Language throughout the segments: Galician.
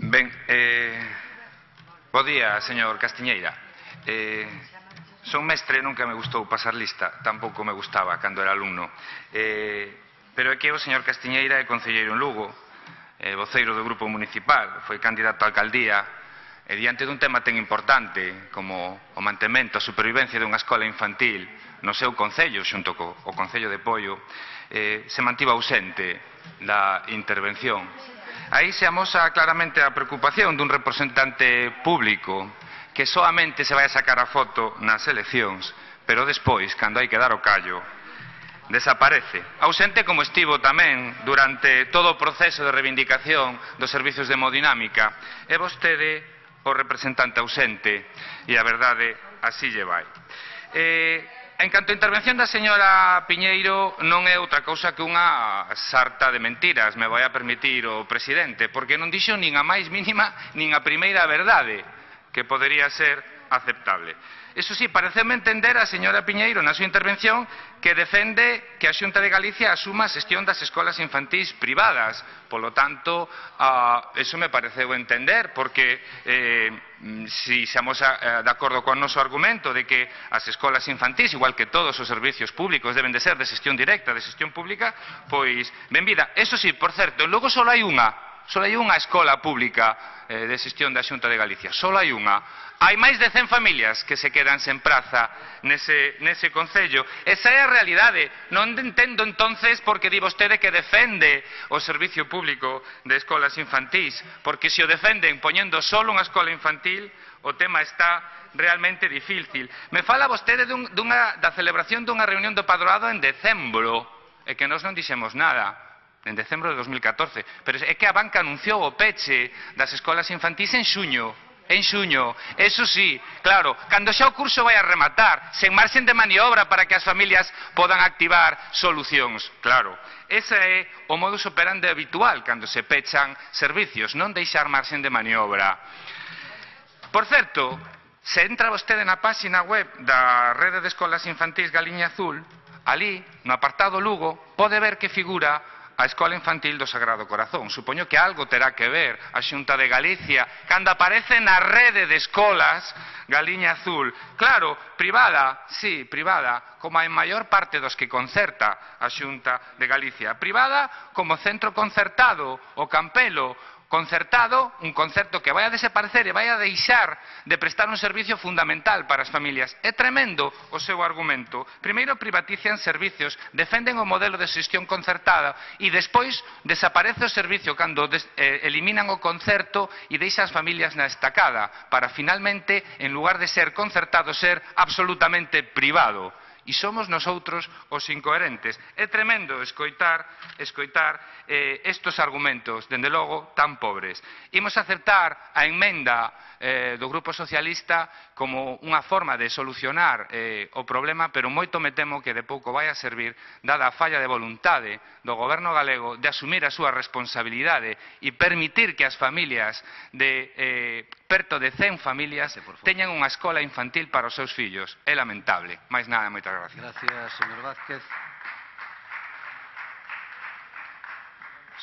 Ben, bo día, señor Castiñeira. Son mestre e nunca me gustou pasar lista, tampouco me gustaba cando era alumno. Pero é que o señor Castiñeira é concelleiro en Lugo, voceiro do grupo municipal, foi candidato a alcaldía, e diante dun tema tan importante como o mantemento, a supervivencia dunha escola infantil no seu concello, xunto co Concello de Poio, se mantivo ausente da intervención. Aí se amosa claramente a preocupación dun representante público que soamente se vai a sacar a foto nas eleccións, pero despois, cando hai que dar o callo, desaparece. Ausente como estivo tamén durante todo o proceso de reivindicación dos servizos de hemodinámica. É vostede o representante ausente e a verdade así lle vai. En canto a intervención da señora Piñeiro, non é outra cousa que unha sarta de mentiras, me vai a permitir o presidente, porque non dixo nin a máis mínima nin a primeira verdade, que podería ser aceptable. Eso sí, pareceme entender a señora Piñeiro na súa intervención que defende que a Xunta de Galicia asuma a xestión das escolas infantís privadas. Polo tanto, eso me pareceu entender, porque si se amosa de acordo con o noso argumento de que as escolas infantís, igual que todos os servicios públicos, deben de ser de xestión directa, de xestión pública, pois, benvida. Eso sí, por certo, logo só hai unha escola pública de xestión da Xunta de Galicia, só hai unha. Hai máis de 100 familias que se quedan sen praza nese concello. Esa é a realidade. Non entendo entonces por que di vostede que defende o servicio público de escolas infantís, porque se o defenden poñendo solo unha escola infantil, o tema está realmente difícil. Me fala vostede da celebración dunha reunión do padroado en decembro, e que nós non dixemos nada. En decembro de 2014, pero é que a banca anunciou o peche das escolas infantís en xuño, eso sí, claro, cando xa o curso vai a rematar, sen marxen de maniobra para que as familias podan activar solucións, claro. Ese é o modus operandi habitual cando se pechan servicios, non deixar marxen de maniobra. Por certo, se entra vostede na páxina web da Rede de Escolas Infantís Galiña Azul, ali, no apartado Lugo, pode ver que figura a Escola Infantil do Sagrado Corazón. Supoño que algo terá que ver a Xunta de Galicia cando aparece na Rede de Escolas Galiña Azul. Claro, privada, sí, privada, como a maior parte dos que concerta a Xunta de Galicia. Privada como centro concertado, o Campelo, concertado, un concerto que vai a desaparecer e vai a deixar de prestar un servicio fundamental para as familias. É tremendo o seu argumento. Primeiro privatizan servicios, defenden o modelo de xestión concertada e despois desaparece o servicio cando eliminan o concerto e deixan as familias na estacada para finalmente, en lugar de ser concertado, ser absolutamente privado. E somos nosoutros os incoherentes. É tremendo escoitar estes argumentos, dende logo, tan pobres. Imos aceptar a emenda do Grupo Socialista como unha forma de solucionar o problema, pero moito me temo que de pouco vai a servir, dada a falla de voluntade do Goberno galego de asumir a súa responsabilidade e permitir que as familias de perto de 100 familias teñan unha escola infantil para os seus fillos. É lamentable. Mais nada, moitas gracias. Gracias, señor Vázquez.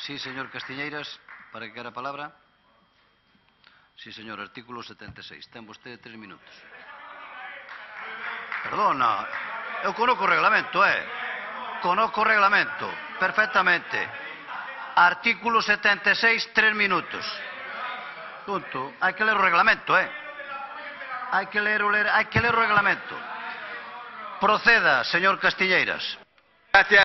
Sí, señor Castiñeiras, para que quere a palabra. Sí, señor, artículo 76. Ten vostede 3 minutos. Perdona, eu conozco o reglamento, conozco o reglamento, perfectamente. Artículo 76, 3 minutos. Punto. Hai que ler o reglamento, Hai que ler o reglamento. Proceda, señor Castiñeiras. Gracias.